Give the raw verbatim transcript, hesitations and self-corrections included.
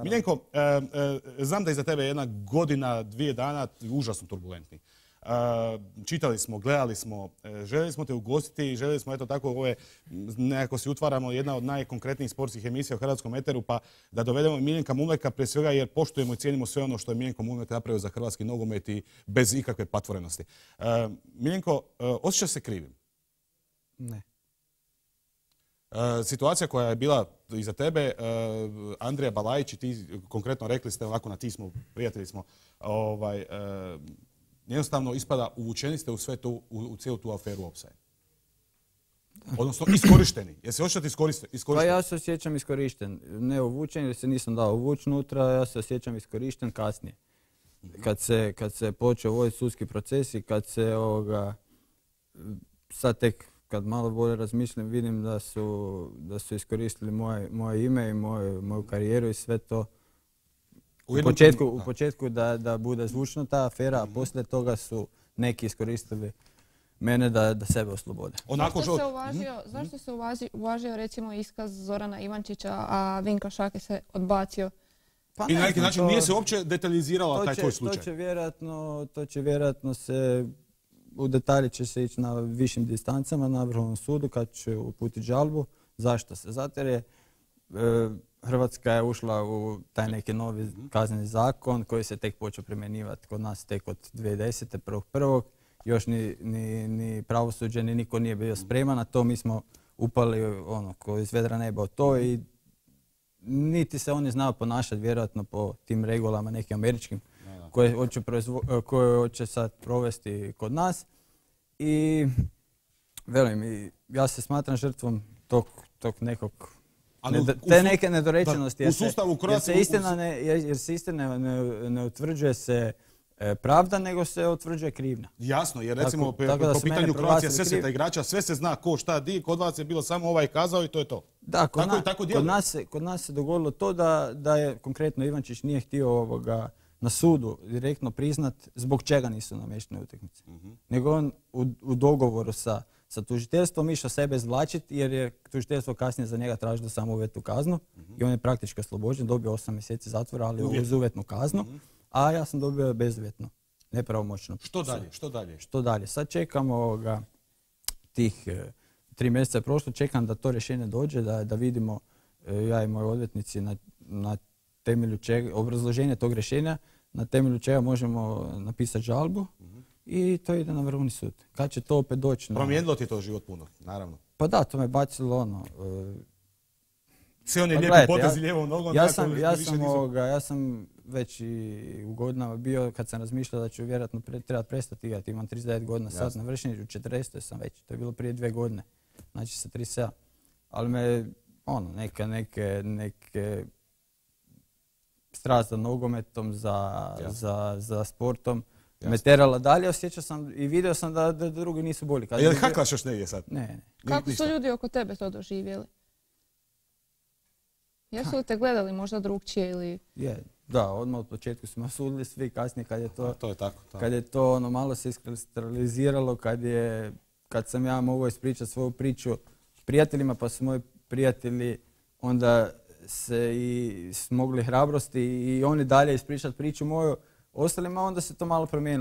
Miljenko, e, e, znam da je za tebe jedna godina, dvije dana užasno turbulentni. E, čitali smo, gledali smo, e, željeli smo te ugostiti i željeli smo, eto tako, ove, nekako si utvaramo jedna od najkonkretnijih sportskih emisija u hrvatskom eteru, pa da dovedemo Miljenka Mumleka prije svega jer poštujemo i cijenimo sve ono što je Miljenko Mumlek napravio za hrvatski nogomet i bez ikakve patvorenosti. E, Miljenko, e, osjećaš se krivim? Ne. E, situacija koja je bila iza tebe, e, Andrija Balajić i ti konkretno rekli ste, ovako na ti smo, prijatelji smo, ovaj, e, jednostavno ispada uvučeni ste u sve to, u, u cijelu tu aferu Opsaj. Odnosno iskorišteni. Jesi se osjećati iskorišteni? Pa ja se osjećam iskorišten. Ne uvučen jer se nisam dao uvući unutra, ja se osjećam iskorišten kasnije. Kad se, kad se počeo voditi sudski proces i kad se ovoga, sad tek kad malo bolje razmišljam, vidim da su, da su iskoristili moje, moje ime i moju, moju karijeru i sve to. U, u početku, u početku da, da bude zvučna ta afera, a poslije toga su neki iskoristili mene da, da sebe oslobode. Onako zašto se uvažio, mm-hmm. zašto se uvažio, uvažio recimo iskaz Zorana Ivančića, a Vinko Šake se odbacio? Pa I na neki način to, nije se uopće detaljizirala taj tvoj slučaj. To će vjerojatno, to će vjerojatno se, u detalje će se ići na višim distancama na Vrhovnom sudu kad će uputiti žalbu. Zašto se? Zato jer je e, Hrvatska je ušla u taj neki novi kazneni zakon koji se tek počeo primjenjivati kod nas tek od dvije tisuće desete. prvog prvog Još ni, ni, ni pravosuđe, ni niko nije bio spreman na to. Mi smo upali ono, ko iz vedra neba od to i niti se oni znaju ponašati vjerojatno po tim regulama nekim američkim koje hoće, proizvo, koje hoće sad provesti kod nas. I velim, ja se smatram žrtvom tog, tog nekog Ne, te neke nedorečenosti, jer, jer se istina ne, jer se istina ne, ne utvrđuje se e, pravda, nego se utvrđuje krivnja. Jasno, jer recimo tako, tako po pitanju Croatia Sesveta igrača sve se zna ko šta di, kod vas je bilo samo ovaj kazao i to je to. Da, kod, tako, na, tako kod, nas, se, kod nas se dogodilo to da, da je konkretno Ivančić nije htio ovoga, na sudu direktno priznat zbog čega nisu namještene utakmice. Uh-huh. Nego on u, u dogovoru sa sa tužiteljstvom išao sebe izvlačiti jer je tužiteljstvo kasnije za njega tražilo samo uvjetnu kaznu uh-huh. i on je praktički oslobođen, dobio osam mjeseci zatvora, ali Uvjet. uz uvjetnu kaznu, uh-huh. a ja sam dobio bezuvjetno, nepravomoćno. Što dalje? Što dalje? Što dalje? Sad čekamo ga, tih e, tri mjeseca je prošlo, čekam da to rješenje dođe, da, da vidimo e, ja i moji odvjetnici na, na temelju čega, obrazloženje tog rješenja, na temelju čega možemo napisati žalbu. Uh-huh. I to ide na Vrhovni sud. Kad će to opet doći? Promijenilo ti to život puno, naravno. Pa da, to me bacilo ono... Uh, Sve on je pa lijepi potezi ja, lijevom nogom. Ja sam, ja, sam ovoga, ja sam već i u godinama bio, kad sam razmišljao da ću vjerojatno pre, treba prestati igrati. Imam trideset devet godina sad, na vršenju, u četrdeset sam već. To je bilo prije dvije godine. Znači sa trideset sedam. Ali me, ono, neke, neke, neke strast za nogometom, za, za, za sportom. Jasne. Me terala dalje, osjećao sam i vidio sam da, da drugi nisu bolji. A je li haklaš još negdje sad? Ne, ne. Kako su ljudi oko tebe to doživjeli? Jesu li te gledali možda drugčije ili... Je, da, odmah od početku smo sudili svi, kasnije kad je to... A, to je tako. tako. Kad je to ono malo se iskristaliziralo, kad je... Kad sam ja mogao ispričati svoju priču prijateljima, pa su moji prijatelji onda se i smogli hrabrosti i oni dalje ispričati priču moju ostalima, onda se to malo promijenilo.